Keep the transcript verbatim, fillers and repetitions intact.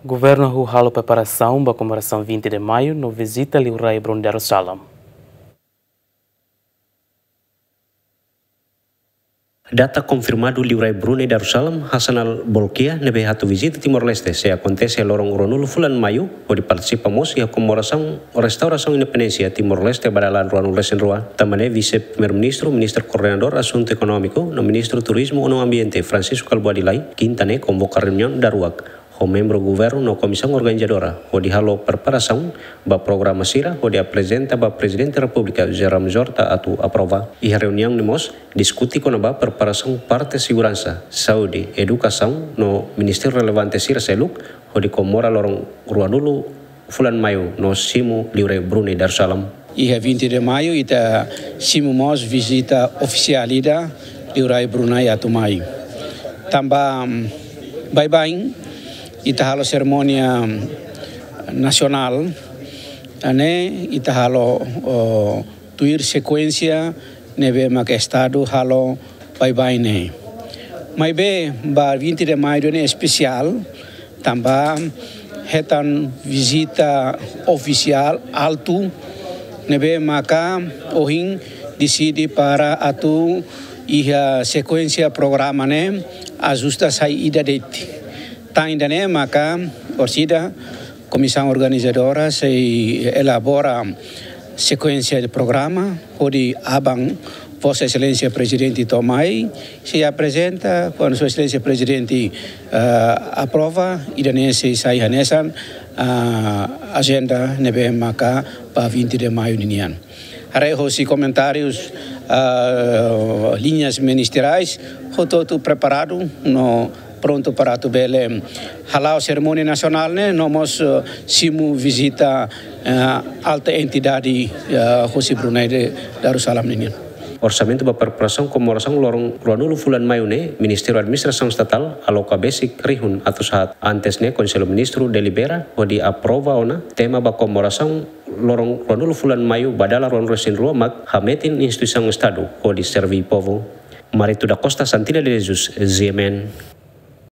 Governu halo preparasaun ba komemorasaun vinte de Maiu no vizita Liurai Brunei Darussalam. Data konfirmadu Liurai Brunei Darussalam Hassanal Bolkiah ne'ebé atu vizita Timor-Leste sei akontese loron ruanulu fulan Maiu, hodi partisipa mós iha komemorasaun restaurasaun independénsia Timor-Leste ba dala ruanulu resin rua. Tanba ne'e Vise-Primeiru-Ministru, Ministru Koordenadór Asuntu Ekonómiku no Ministru Turizmu no Ambiente Francisco Kalbuadi Lay, Kinta ne'e konvoka reuniaun daruak ho membru governu no komisaun organizadora hodi halo preparasaun ba programa sira hodi aprezenta ba Prezidente Repúblika José Ramos Horta atu aprova. Iha reuniaun ne'e mós diskute kona-ba preparasaun parte seguransa, saúde, edukasaun no ministériu relevante sira seluk hodi komemora loron ruanulu fulan Maiu no simu Liurai Brunei Darussalam. Iha vinte de Maiu ita simu mós vizita ofisiál ida Liurai Brunei atu mai. Tanba, mm, baibain ita halo serimónia, mm, nasionál, ne'e ita halo, oh, tuir sekuénsia ne'ebé maka Estadu halo baibain ne'e. Maibé ba vinte de Maiu ne'e espesiál, tanba hetan vizita ofisiál altu ne'ebé maka ohin deside para atu iha sekuénsia programa ne'e ajusta sai ida de'it. Tan ida-ne'e maka orsida komisaun organizadora sei elabora sekuénsia de programa, hodi aban Vossa Exelénsia Prezidente to'o mai, sei aprezenta, kuandu Sua Exelénsia Prezidente, ah, aprova, ida-ne'e sei sai hanesan, ah, ajenda ne'ebé maka ba vinte de Maiu ninian. Haree hosi komentárius, ah, liñas ministerais, hotu-hotu preparadu no prontu para atu bele hala'o serimónia nasionál ne'e, no mós, eh, simu vizita, eh, alta entidade, eh, hosi Brunei Darussalam ninian. Orsamentu ba preparasaun komemorasaun loron ruanulu fulan Maiu ne'e, Ministériu Administrasaun Estatál aloka besik rihun atus haat. Antes ne'e, Konsellu Ministru delibera hodi aprova ona tema ba komemorasaun loron ruanulu fulan Maiu ba dala ruanulu resin rua mak hametin instituisaun Estadu hodi serví povu. Marito da Costa, Santina de Jesus, G M N.